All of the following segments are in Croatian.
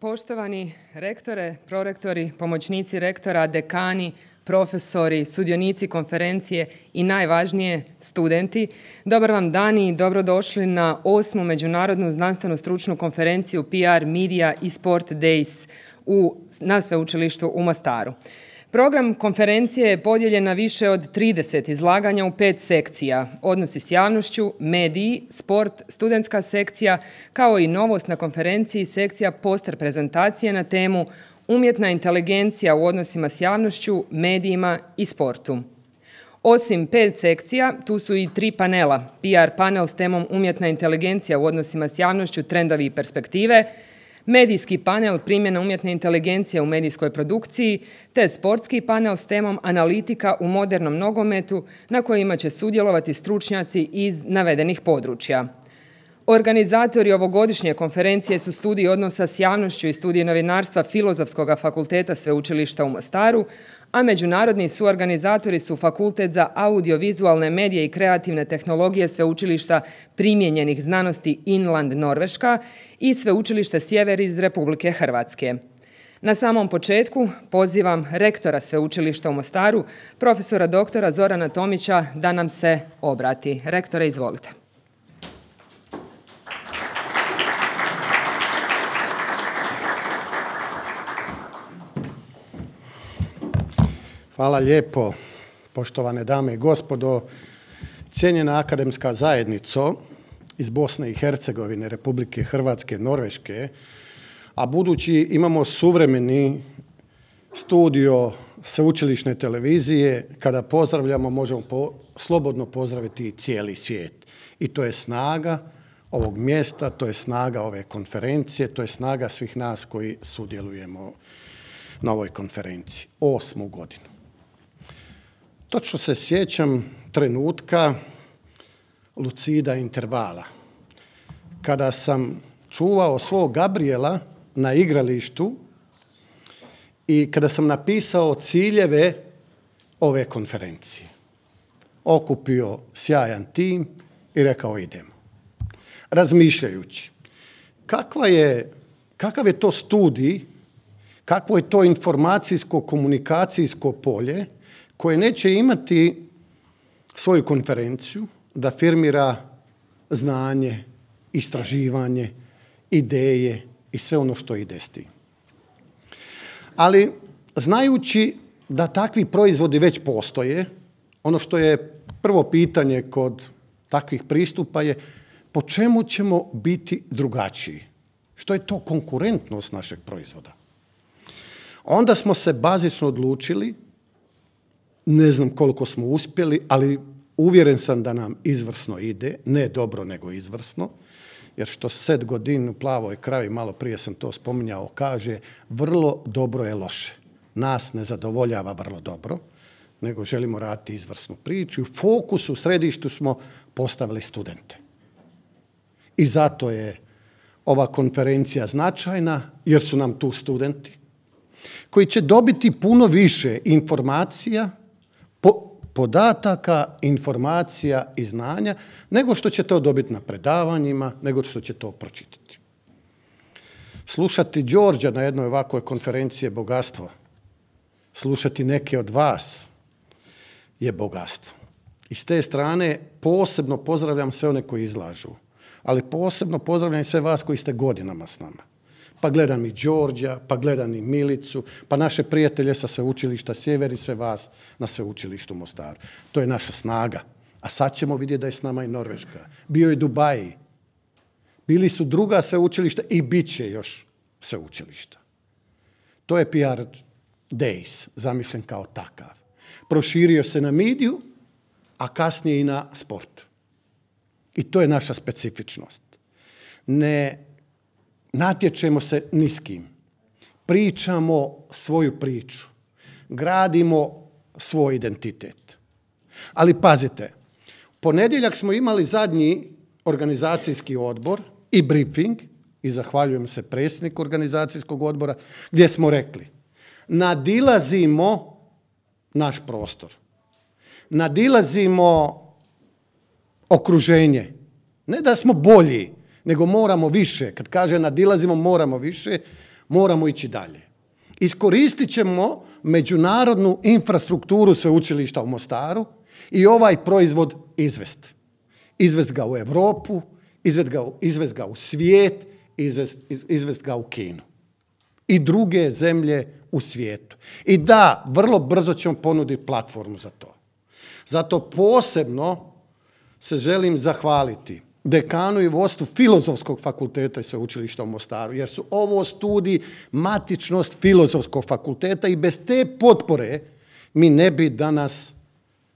Poštovani rektore, prorektori, pomoćnici rektora, dekani, profesori, sudionici konferencije i najvažnije studenti, dobar vam dan i dobrodošli na 8. Međunarodnu znanstvenu stručnu konferenciju PR, Media i Sport Days na Sveučilištu u Mostaru. Program konferencije je podijeljen na više od 30 izlaganja u 5 sekcija: odnosi s javnošću, mediji, sport, studentska sekcija, kao i novost na konferenciji sekcija poster prezentacije na temu umjetna inteligencija u odnosima s javnošću, medijima i sportu. Osim 5 sekcija, tu su i 3 panela: PR panel s temom umjetna inteligencija u odnosima s javnošću, trendovi i perspektive, medijski panel primjena umjetne inteligencije u medijskoj produkciji, te sportski panel s temom analitika u modernom nogometu na kojima će sudjelovati stručnjaci iz navedenih područja. Organizatori ovogodišnje konferencije su studij odnosa s javnošću i studij novinarstva Filozofskog fakulteta Sveučilišta u Mostaru, a međunarodni suorganizatori su Fakultet za audiovizualne medije i kreativne tehnologije Sveučilišta primijenjenih znanosti Inland Norveška i Sveučilište Sjever iz Republike Hrvatske. Na samom početku pozivam rektora Sveučilišta u Mostaru, profesora doktora Zorana Tomića, da nam se obrati. Rektore, izvolite. Hvala lijepo, poštovane dame i gospodo, cijenjena akademska zajednico iz Bosne i Hercegovine, Republike Hrvatske, Norveške, a budući imamo suvremeni studio sveučilišne televizije, kada pozdravljamo možemo slobodno pozdraviti cijeli svijet. I to je snaga ovog mjesta, to je snaga ove konferencije, to je snaga svih nas koji sudjelujemo na ovoj konferenciji. 8. godinu. Točno se sjećam trenutka lucida intervala, kada sam čuvao svog Gabriela na igralištu i kada sam napisao ciljeve ove konferencije. Okupio sjajan tim i rekao idemo. Razmišljajući kakav je to studij, kakvo je to informacijsko-komunikacijsko polje koje neće imati svoju konferenciju da firmira znanje, istraživanje, ideje i sve ono što ide s tim. Ali znajući da takvi proizvodi već postoje, ono što je prvo pitanje kod takvih pristupa je po čemu ćemo biti drugačiji? Što je to konkurentnost našeg proizvoda? Onda smo se bazično odlučili, ne znam koliko smo uspjeli, ali uvjeren sam da nam izvrsno ide, ne dobro nego izvrsno, jer što Seth Godin u Plavoj kravi, malo prije sam to spominjao, kaže vrlo dobro je loše. Nas ne zadovoljava vrlo dobro, nego želimo raditi izvrsnu priču. U fokusu, u središtu smo postavili studente. I zato je ova konferencija značajna, jer su nam tu studenti koji će dobiti puno više informacija, podataka, informacija i znanja, nego što će to dobiti na predavanjima, nego što će to pročitati. Slušati Đorđa na jednoj ovakvoj konferenciji je bogatstvo. Slušati neke od vas je bogatstvo. I s te strane posebno pozdravljam sve one koji izlažu, ali posebno pozdravljam i sve vas koji ste godinama s nama. Pa gledam i Đorđa, pa gledam i Milicu, pa naše prijatelje sa Sveučilišta Sjever i sve vas na Sveučilištu Mostaru. To je naša snaga. A sad ćemo vidjeti da je s nama i Norveška. Bio je Dubaji. Bili su druga sveučilišta i bit će još sveučilišta. To je PR Days, zamišljen kao takav. Proširio se na mediju, a kasnije i na sport. I to je naša specifičnost. Ne natječemo se ni s kim. Pričamo svoju priču. Gradimo svoj identitet. Ali pazite, ponedjeljak smo imali zadnji organizacijski odbor i briefing, i zahvaljujem se predsjedniku organizacijskog odbora, gdje smo rekli nadilazimo naš prostor. Nadilazimo okruženje. Ne da smo bolji, nego moramo više. Kad kaže nadilazimo, moramo više. Moramo ići dalje. Iskoristit ćemo međunarodnu infrastrukturu sveučilišta u Mostaru i ovaj proizvod izvesti. Izvesti ga u Europu, izvesti ga u svijet, izvesti ga u Kinu. I druge zemlje u svijetu. I da, vrlo brzo ćemo ponuditi platformu za to. Zato posebno se želim zahvaliti dekanu i vodstvu Filozofskog fakulteta i sveučilišta u Mostaru, jer su ovo studij matičnost Filozofskog fakulteta i bez te potpore mi ne bi danas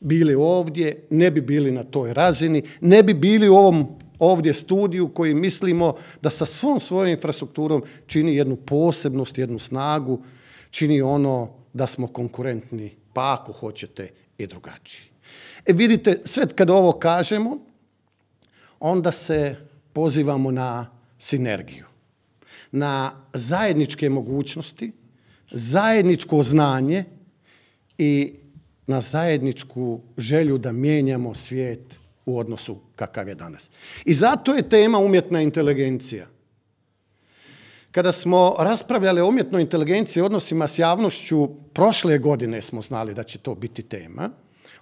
bili ovdje, ne bi bili na toj razini, ne bi bili u ovom ovdje studiju koji mislimo da sa svom svojom infrastrukturom čini jednu posebnost, jednu snagu, čini ono da smo konkurentni, pa ako hoćete i drugačiji. Vidite, sve kad ovo kažemo, onda se pozivamo na sinergiju, na zajedničke mogućnosti, zajedničko znanje i na zajedničku želju da mijenjamo svijet u odnosu kakav je danas. I zato je tema umjetna inteligencija. Kada smo raspravljali o umjetnoj inteligenciji i odnosima s javnošću, prošle godine smo znali da će to biti tema,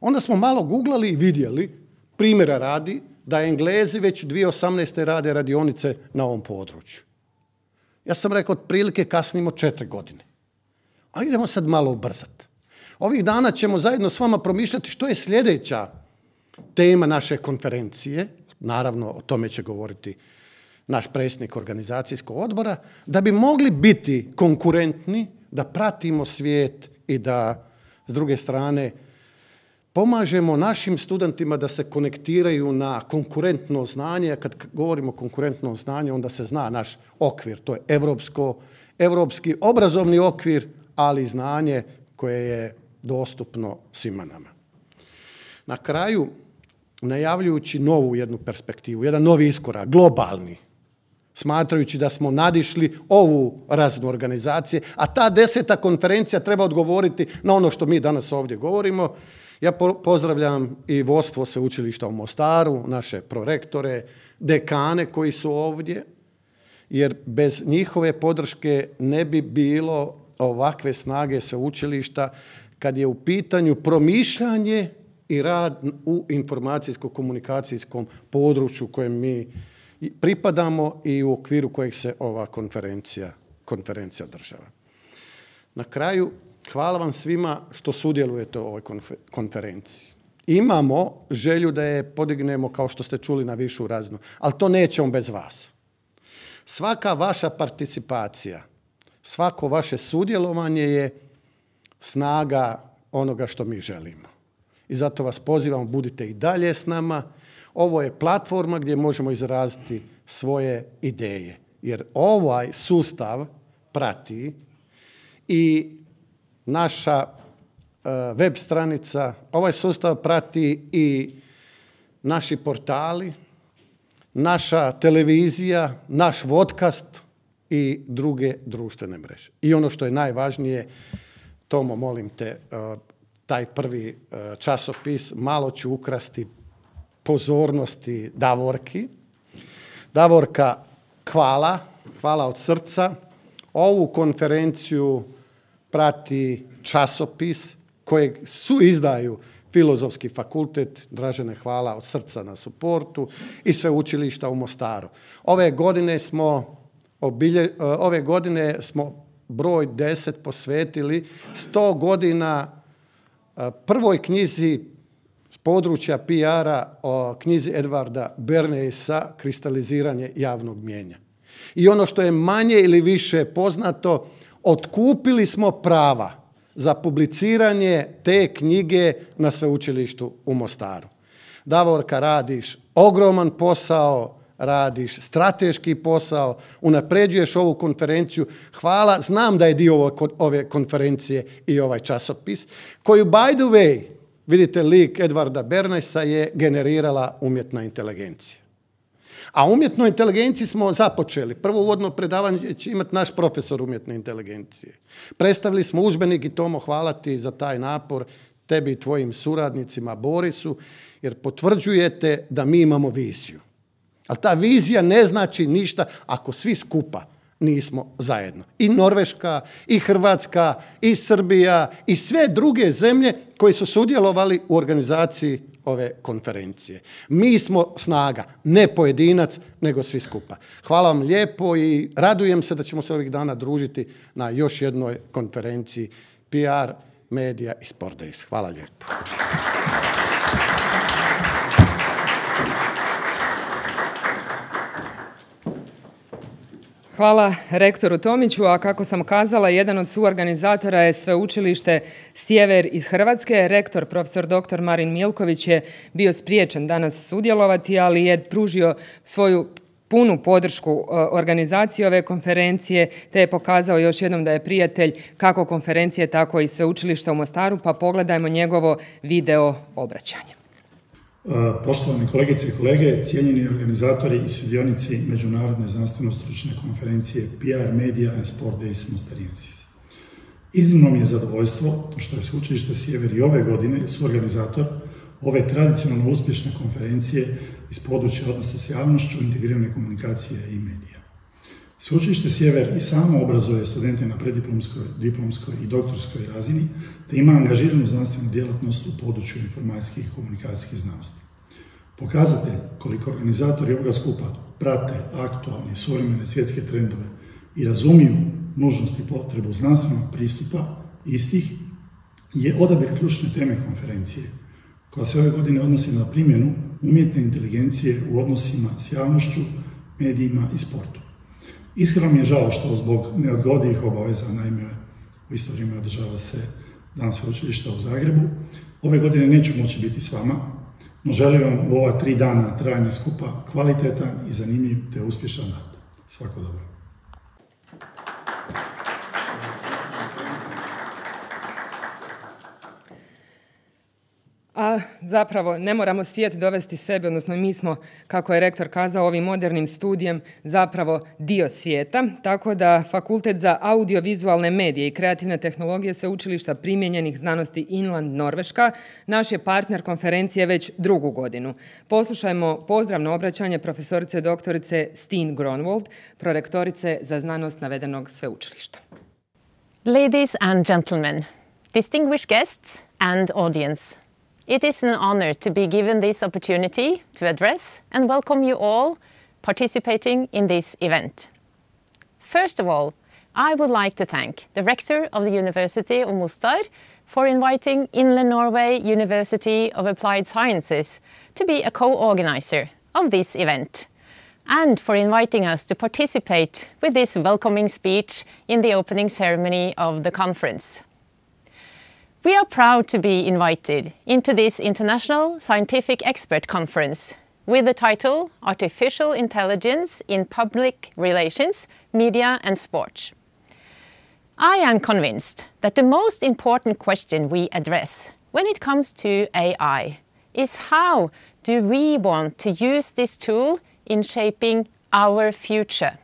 onda smo malo googlali i vidjeli, primjera radi, da Englezi već 2018. rade radionice na ovom području. Ja sam rekao, otprilike kasnimo 4 godine. A idemo sad malo ubrzati. Ovih dana ćemo zajedno s vama promišljati što je sljedeća tema naše konferencije. Naravno, o tome će govoriti naš predsjednik organizacijskog odbora, da bi mogli biti konkurentni, da pratimo svijet i da, s druge strane, pomažemo našim studentima da se konektiraju na konkurentno znanje. Kad govorimo o konkurentnom znanju, onda se zna naš okvir. To je evropski obrazovni okvir, ali i znanje koje je dostupno svima nama. Na kraju, najavljujući novu jednu perspektivu, jedan novi iskorak, globalni, smatrajući da smo nadišli ovu razinu organizacije, a ta 10. konferencija treba odgovoriti na ono što mi danas ovdje govorimo. Ja pozdravljam i vodstvo sveučilišta u Mostaru, naše prorektore, dekane koji su ovdje, jer bez njihove podrške ne bi bilo ovakve snage sveučilišta kad je u pitanju promišljanje i rad u informacijsko-komunikacijskom području kojem mi pripadamo i u okviru kojeg se ova konferencija održava. Na kraju, hvala vam svima što sudjelujete u ovoj konferenciji. Imamo želju da je podignemo, kao što ste čuli, na višu razinu, ali to nećemo bez vas. Svaka vaša participacija, svako vaše sudjelovanje je snaga onoga što mi želimo. I zato vas pozivam, budite i dalje s nama. Ovo je platforma gdje možemo izraziti svoje ideje. Jer ovaj sustav prati i naša web stranica, ovaj sustav prati i naši portali, naša televizija, naš podcast i druge društvene mreže. I ono što je najvažnije, Tomo, molim te, taj prvi časopis, malo ću ukrasti pozornosti Davorki. Davorka, hvala od srca. Ovu konferenciju prati časopis kojeg izdaju Filozofski fakultet. Dražene, hvala od srca na suportu i sveučilišta u Mostaru. Ove godine smo broj 10 posvetili 100 godina prvoj knjizi s područja PR-a o knjizi Edvarda Bernaisa Kristaliziranje javnog mnijenja. I ono što je manje ili više poznato, otkupili smo prava za publiciranje te knjige na sveučilištu u Mostaru. Davorka, radiš ogroman posao, radiš strateški posao, unapređuješ ovu konferenciju. Hvala, znam da je dio ove konferencije i ovaj časopis, koju, by the way, vidite, lik Edvarda Bernaisa je generirala umjetna inteligencija. A umjetnoj inteligenciji smo započeli. Prvo uvodno predavanje će imati naš profesor umjetne inteligencije. Predstavili smo udžbenik i Tomo, hvala ti za taj napor, tebi i tvojim suradnicima, Borisu, jer potvrđujete da mi imamo viziju. Ali ta vizija ne znači ništa ako svi skupa nismo zajedno. I Norveška, i Hrvatska, i Srbija, i sve druge zemlje koje su sudjelovali u organizaciji ove konferencije. Mi smo snaga, ne pojedinac, nego svi skupa. Hvala vam lijepo i radujem se da ćemo se ovih dana družiti na još jednoj konferenciji PR, Media i Sport Days. Hvala lijepo. Hvala rektoru Tomiću, a kako sam kazala, jedan od suorganizatora je Sveučilište Sjever iz Hrvatske. Rektor, profesor dr. Marin Milković je bio spriječen danas sudjelovati, ali je pružio svoju punu podršku organizaciji ove konferencije, te je pokazao još jednom da je prijatelj kako konferencije, tako i Sveučilišta u Mostaru, pa pogledajmo njegovo video obraćanje. Poštovani kolegice i kolege, cijenjeni organizatori i sudionici Međunarodne znanstveno-stručne konferencije PR, Media and Sport Days Mostariensis. Iznimno mi je zadovoljstvo što je Sveučilište Sjever i ove godine suorganizator ove tradicionalno uspješne konferencije iz područja odnosa s javnošću, integrirane komunikacije i medija. Sveučilište Sjever i samo obrazuje studente na preddiplomskoj, diplomskoj i doktorskoj razini, te ima angažiranu znanstvenu djelatnost u području informacijskih i komunikacijskih znanosti. Pokazatelj koliko organizatori ovoga skupa prate aktualne suvremene svjetske trendove i razumiju nužnost i potrebu znanstvenog pristupa istih je odabir ključne teme konferencije, koja se ove godine odnosi na primjenu umjetne inteligencije u odnosima s javnošću, medijima i sportu. Iskreno mi je žao što zbog neodgodivih obaveza, naime u isto vrijeme održava se Dan sveučilišta u Zagrebu, ove godine neću moći biti s vama, no želim vam u ova 3 dana trajanja skupa kvalitetan i zanimljiv te uspješan rad. Svako dobro. A zapravo ne moramo svijet dovesti sebe, odnosno mi smo, kako je rektor kazao, ovim modernim studijem zapravo dio svijeta, tako da Fakultet za audiovizualne medije i kreativne tehnologije Sveučilišta primijenjenih znanosti Inland Norveška naš je partner konferencije već 2. godinu. Poslušajmo pozdravno obraćanje profesorice doktorice Stine Gronwald, prorektorice za znanost navedenog sveučilišta. Ladies and gentlemen, distinguished guests and audience, it is an honor to be given this opportunity to address and welcome you all participating in this event. First of all, I would like to thank the Rector of the University of Mostar for inviting Inland Norway University of Applied Sciences to be a co-organizer of this event, and for inviting us to participate with this welcoming speech in the opening ceremony of the conference. We are proud to be invited into this international scientific expert conference with the title Artificial Intelligence in Public Relations, Media and Sport. I am convinced that the most important question we address when it comes to AI is how do we want to use this tool in shaping our future.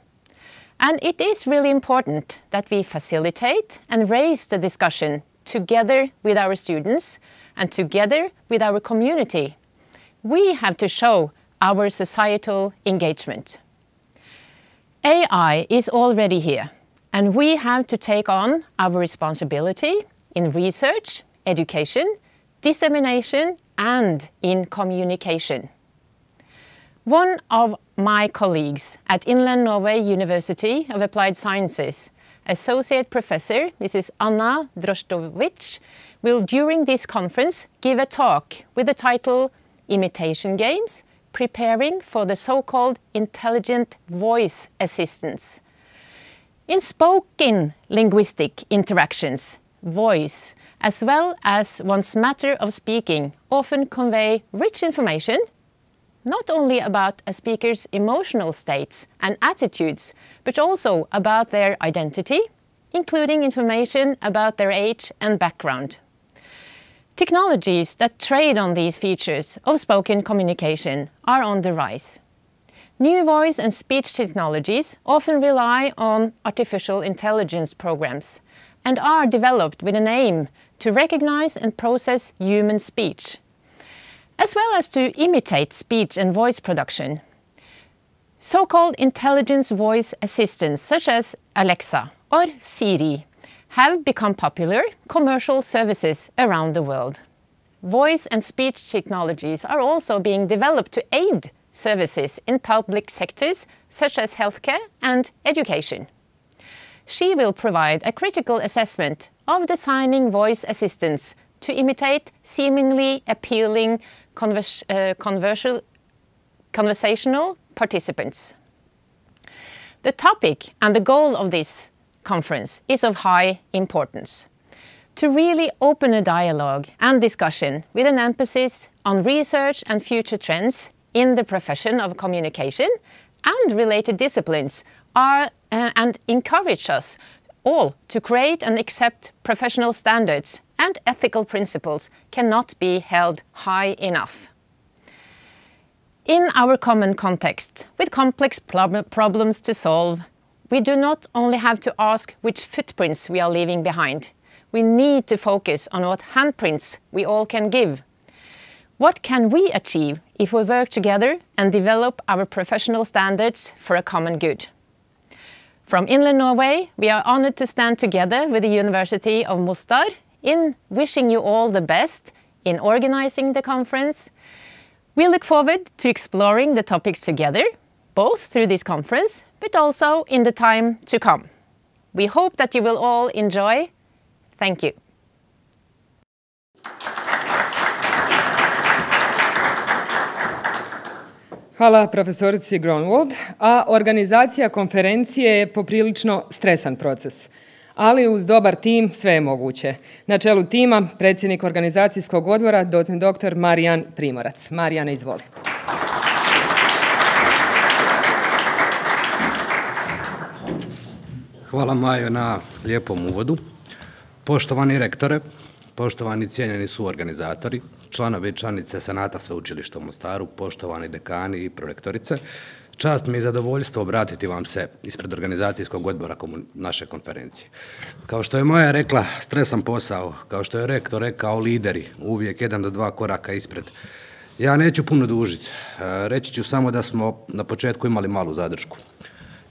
And it is really important that we facilitate and raise the discussion together with our students and together with our community. We have to show our societal engagement. AI is already here, and we have to take on our responsibility in research, education, dissemination, and in communication. One of my colleagues at Inland Norway University of Applied Sciences, Associate Professor Mrs. Anna Drostovic, will during this conference give a talk with the title Imitation Games, Preparing for the so-called Intelligent Voice Assistants. In spoken linguistic interactions, voice, as well as one's matter of speaking, often convey rich information, not only about a speaker's emotional states and attitudes, but also about their identity, including information about their age and background. Technologies that trade on these features of spoken communication are on the rise. New voice and speech technologies often rely on artificial intelligence programs and are developed with an aim to recognize and process human speech, as well as to imitate speech and voice production. So-called intelligence voice assistants such as Alexa or Siri have become popular commercial services around the world. Voice and speech technologies are also being developed to aid services in public sectors such as healthcare and education. She will provide a critical assessment of designing voice assistants to imitate seemingly appealing conversational participants. The topic and the goal of this conference is of high importance: to really open a dialogue and discussion with an emphasis on research and future trends in the profession of communication and related disciplines and encourage us all to create and accept professional standards and ethical principles cannot be held high enough. In our common context, with complex problems to solve, we do not only have to ask which footprints we are leaving behind. We need to focus on what handprints we all can give. What can we achieve if we work together and develop our professional standards for a common good? From Inland Norway, we are honored to stand together with the University of Mostar in wishing you all the best in organizing the conference. We look forward to exploring the topics together, both through this conference, but also in the time to come. We hope that you will all enjoy. Thank you. Hvala profesorici Gronwald, a organizacija konferencije je poprilično stresan proces. Ali uz dobar tim sve je moguće. Na čelu tima predsjednik organizacijskog odbora, docent dr. Marijan Primorac. Marijane, izvoli. Hvala Majo na lijepom uvodu. Poštovani rektore, poštovani cijenjeni suorganizatori, članovi i članice Senata Sveučilišta u Mostaru, poštovani dekani i prorektorice, čast mi je zadovoljstvo obratiti vam se ispred organizacijskog odbora naše konferencije. Kao što je Maja rekla, stresan posao, kao što je rektor rekao, lideri, uvijek 1 do 2 koraka ispred. Ja neću puno dužiti, reći ću samo da smo na početku imali malu zadršku.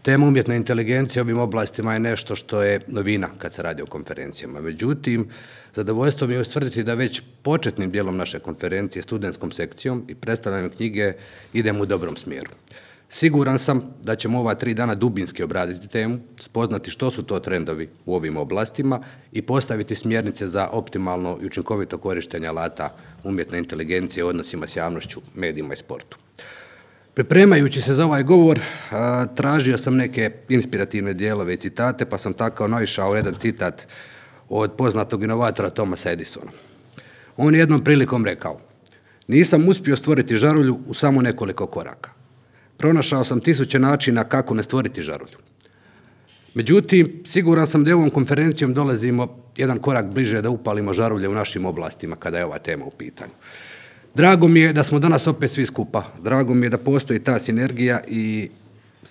Tema umjetne inteligencije u ovim oblastima je nešto što je novina kad se radi o konferencijama. Međutim, zadovoljstvo mi je ustvrditi da već početnim dijelom naše konferencije, studentskom sekcijom i predstavljanjem knjige idemo u dobrom smjeru. Siguran sam da ćemo ova 3 dana dubinski obraditi temu, spoznati što su to trendovi u ovim oblastima i postaviti smjernice za optimalno i učinkovito korištenje alata umjetne inteligencije u odnosima s javnošću, medijima i sportu. Pripremajući se za ovaj govor, tražio sam neke inspirativne dijelove i citate, pa sam tako naišao u jedan citat od poznatog inovatora Thomasa Edisona. On je jednom prilikom rekao: "Nisam uspio stvoriti žarulju u samo nekoliko koraka. Pronašao sam 1000 načina kako ne stvoriti žarulju." Međutim, siguran sam da ovom konferencijom dolazimo jedan korak bliže da upalimo žarulje u našim oblastima kada je ova tema u pitanju. Drago mi je da smo danas opet svi skupa. Drago mi je da postoji ta sinergija i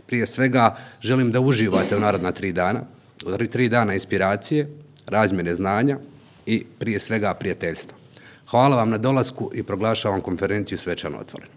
prije svega želim da uživate u naredna 3 dana. 3 dana inspiracije, razmjene znanja i prije svega prijateljstva. Hvala vam na dolasku i proglašavam konferenciju svečano otvorenu.